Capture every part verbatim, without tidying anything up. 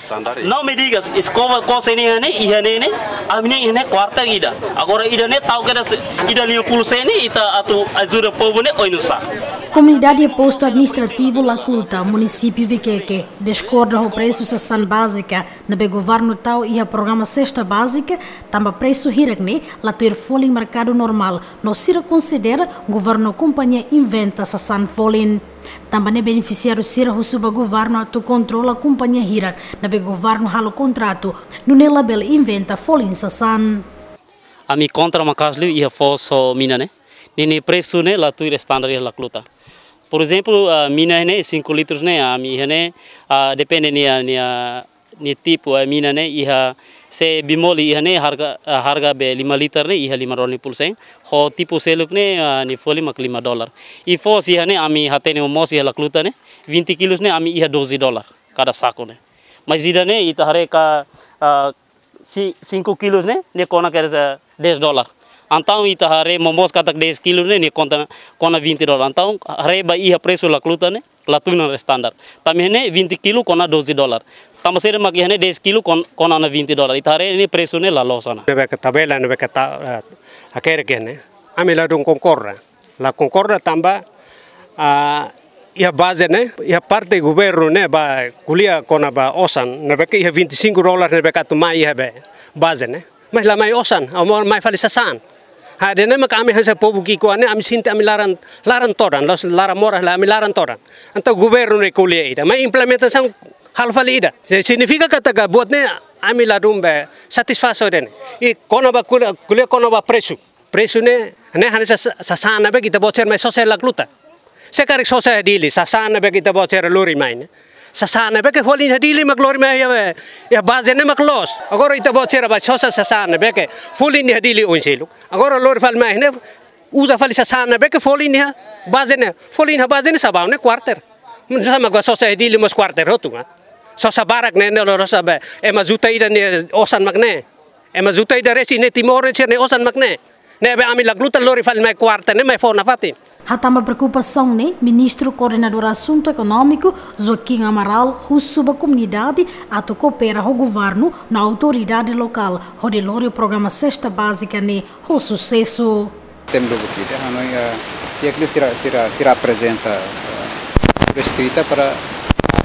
Standar. Não me digas, eskova kose ne'e ne'e, iha ne'e ne'e, ami-nia iha ne'e kuarter ida. Agora ida ne'e tau kedas, ida lima puluh sen ne'e, ita atu ajuda povu ne'e oinsá. Komunidade Postu Administrativu Lacluta, Munisípiu Viqueque, diskorda ho presu sasán bázika ne'ebé governu tau iha programa Sesta Bázika, tanba presu hirak ne'e la tuir folin merkadu normál, no sira konsidera governu kompañia inventa sasán folin. Tanba ne'e benefisiáriu sira husu ba governu atu kontrola kompañia hirak ne'ebé governu halo kontratu, nune'e labele inventa folin sasán. Ami kontra maka'as liu iha foos ho mina ne'e. Ninia presu ne'e la tuir standar iha Lacluta. Por ezemplu, ah, mina ne'e cinco litros ne'e, ami iha ne'e, ah, depende nia, nia, nia tipu, ah, mina ne'e iha, se bimoli iha ne'e harga, ah, harga be lima liter ne'e iha lima dolar lima puluh sen, ho tipu seluk ne'e, ah, nia folin mak lima dolar. I foos iha ne'e ami hatene moos iha Lacluta ne'e, vinte kilos ne'e ami iha doze dolar kada saku ne'e. Mas ida ne'e ita haree ka, ah, si-, cinco kilos ne'e, ne'e kona kedas dez dolar. Entaun ita haree momoos katak dez kilos ne'e, ne'e konta, kona vinte dolar. Entaun haree ba iha presu Lacluta ne'e, la tuir ona standar. Tanba ne'e vinte kilo kona doze dolar. Tanba saida mak iha ne'e dez kilo kon-, kona ona vinte dolar. Ita haree ne'e presu ne'e la loos ona. Ne'ebé ke tabela, ne'ebé ke ta-, eh, hakerek ne'e. Ami ladún konkorda. La konkorda tanba, ah, iha baze ne'e, iha parte governu ne'e ba ko'alia kona-ba osan, ne'ebé ke iha vinte e cinco dolar ne'ebé ke atu mai iha be baze ne'e. Mas la mai osan, amo mai fali sasán. Ha'u dehan ne'e mak ami hanesan povu ki'ikoan ne'e, ami sente ami laran, laran todan, la'ós laran moras, la ami laran todan. Entaun governu ne'e ko'alia ida, mas implementasaun halo fali ida. Se signifika katak buat ne'e ami ladún be satisfás ho ida ne'e. I kona-ba ko'alia, ko'alia kona-ba presu. Presu ne'e, ne'e hanesan sa-, sasán ne'ebé ke ita-boot sira mai sosa iha Lacluta. Se karik sosa iha Dili, sasán ne'ebé ke ita-boot sira lori mai ne'e. Sasán ne'ebé ke folin iha Dili mak lori mai iha, iha baze ne'e mak loos. Agora ita-boot sira ba sosa sasán ne'ebé ke folin iha Dili oin seluk. Agora lori fali mai ne'e, uza fali sasán ne'ebé ke folin iha baze ne'e. Folin iha baze ne'e sá ba ne'e kuarter. Nu'usá mak ba sosa iha Dili mós kuarter hotu, ah. Sosa barak ne'e, ne'e loloos ba, ema juta ida nia osan mak ne'e. Ema juta ida resin ne'e Timor ne'e sira-nia osan mak ne'e. Ne'ebé ami Lacluta lori fali mai kuarter ne'e mai fó nafatin. Hatán ba preokupasaun ne'e, Ministru Koordenadór Asuntu Ekonómiku, Joaquim Amaral, husu ba komunidade atu koopera ho governu no autoridade lokál, hodi lori programa Sesta Bázika ne'e ho susesu. Tem do buki de hanoin, eh, tiak lu sira, sira, sira aprezenta, eh, por escrita para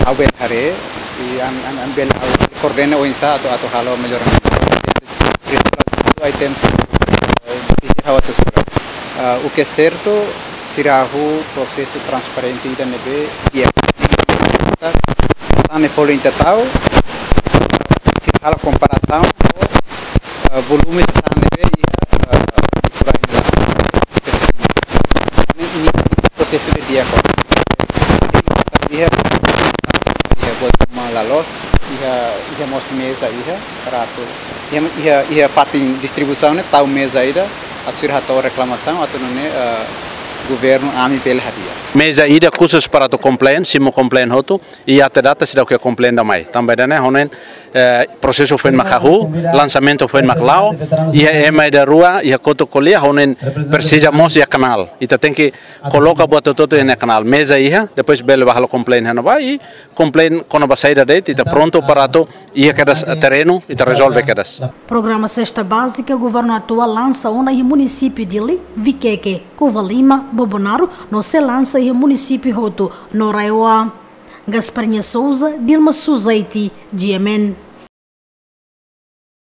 ha'u bele haree, i ami, ami, ami bele ha'u koordena oinsá atu, atu halo melloramentu. Ai tem se, eh, difísil ha'u atu sura. Ah, o que é certo, sira halo prosesu transparente ida ne'ebé di'ak. Sasán ne'e folin ita tau, sira halo komparasaun ho, eh, volume sasán ne'ebé iha, eh, Lacluta ne'e la. Ne'e, ne'e prosesu ne'e di'ak. Iha, iha buat uma la loos, iha, iha mós meza iha, para atu. Iha, iha, iha fatin distribuisaun ne'e tau meza ida, atu sira hato'o reklamasaun, atu nune'e, eh, governu ami bele hadi'a. Meza ida khusus para atu komplain, simu komplain hotu, i até data seidauk iha komplain ida mai. Tanba ida ne'e, ha'u hanoin, eh, prosesu foin mak hahú, lansamentu foin mak la'o, iha ema ida rua, iha kotuk ko'alia, ha'u hanoin presiza mós iha kanál. Ita tenke koloka buat hotu-hotu iha ne'e kanál. Meza iha, depois bele ba halo komplain iha ne'ebá, i komplain kona-ba saida de'it, ita prontu para atu iha kedas terrenu, ita rezolve kedas. Programa Sesta Bázika governu atuál lansa ona iha munisípiu Dili, Viqueque, Covalima, Bobonaro, no sei lansa iha munisípiu hotu, no RAEOA. Gasparinha Souza, Dilma Suzaiti, G M N.